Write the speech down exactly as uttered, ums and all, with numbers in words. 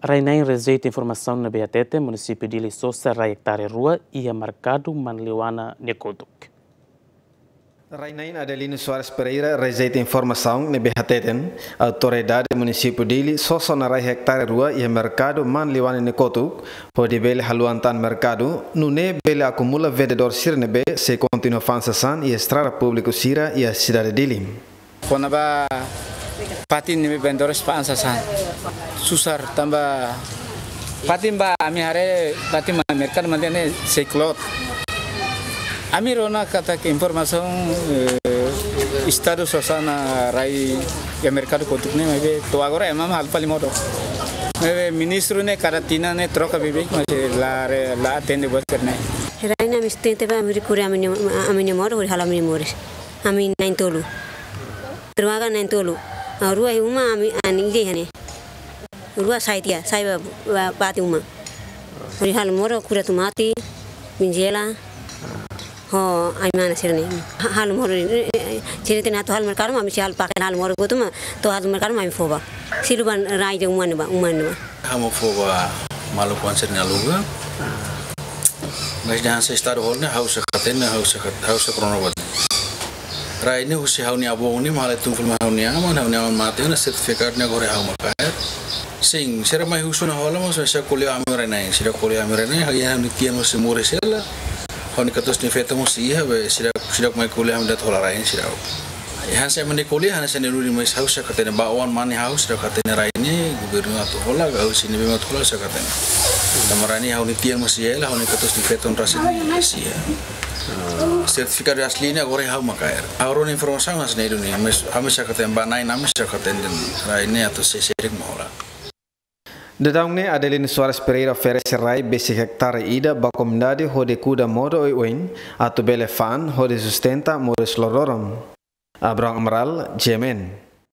Rai-na'in rejeita informasaun ne'ebé hateten munisípiu Dili sosa rai ektare rua iha merkadu Manliwana nia kotuk. Rai-na'in Adelino Soares Pereira rejeita informasaun ne'ebé hateten autoridade munisípiu Dili sosa ona rai ektare rua iha merkadu Manliwana nia kotuk, hodi bele haluan tan merkadu, nune'e bele akumula vendedór sira ne'ebé sei kontinua fa'an sasán iha estrada públiku sira iha sidade Dili. Kona-ba fatin ne'ebé vendedores fa'an sasán. Susar tanba fatin ba ami haree fatin ba merkadu Manliwana ne'e sei klot. Ami rona katak informasaun, eh, Estadu sosa ona rai iha merkadu kotuk ne'e, maibé to'o agora ema halo fali modo. Maibé ministru ne'e kada tinan ne'e troka beibeik, mas la re-, la atende buat sira-ne'e. Rai-na'in ami sustenta ba ami rikuria ami-nia, ami-nia modo, hodi halo ami-nia moris. Ami na'in-tolu. Rua ka na'in-tolu. Ah, rua iha uma, ami, ah, ida iha ne'e. Rua sai tiha, sai ba, ba, ba tiha uma. Hodi halo modo, kuda tomate, brinjela. Ho, ai-mana sira-ne'e. Ha-, halo modo, eh, eh, sira-ne'e atu halo merkadu, ami sei halo pakaian halo modo kotuk mak, to'o halo merkadu mak ami fó ba. Sei lubang rai de uma ne'ebá, uma ne'ebá. Ha'u mak fó ba maluk oan sira-nia aluga. Mas dehan se Estadu hola ne'e ha'u sei hatene, ha'u sei hat-, ha'u sei krono ba. Rai ne'e husi ha'u-nia avó ne'e mak halo tun filma ha'u-nia aman, ha'u-nia aman mate ona, sertifikadu ne'e agora ha'u mak kaer. Sin, sira mai husu ona hola mós, sira ko'alia ami rai-na'in, sira ko'alia ami rai-na'in, ha'u iha ha'u-nia tian mós sei moris hela, ha'u-nia katuas-nia feto mós sei iha, be, sira, sira mai ko'alia ami de'it hola rai sira. Iha hanesan ema ne'e ko'alia, hanesan ne'e duni, mas ha'u sei hatene ba oan mane ha'u sei hatene rai ne'e, governu atu hola, ha'u sei ne'ebé mak atu hola sei hatene. Tanba rai ne'e ha'u-nia tian mós sei iha hela, ha'u-nia katuas-nia feto rasik sei iha. Sertifikadu asli ne'e agora ha'u mak kaer. Ha'u rona informasaun hanesan ne'e duni, mas ami sei hatene ba na'in ami sei hatene dehan rai ne'e atu sei, sei rik mak hola. Daudaun ne'e Adelino Soares Pereira oferese rai besik ektare ida ba komunidade hodi kuda modo oioin atu bele fa'an hodi sustenta moris loroloron. Abraham Amaral, G M N.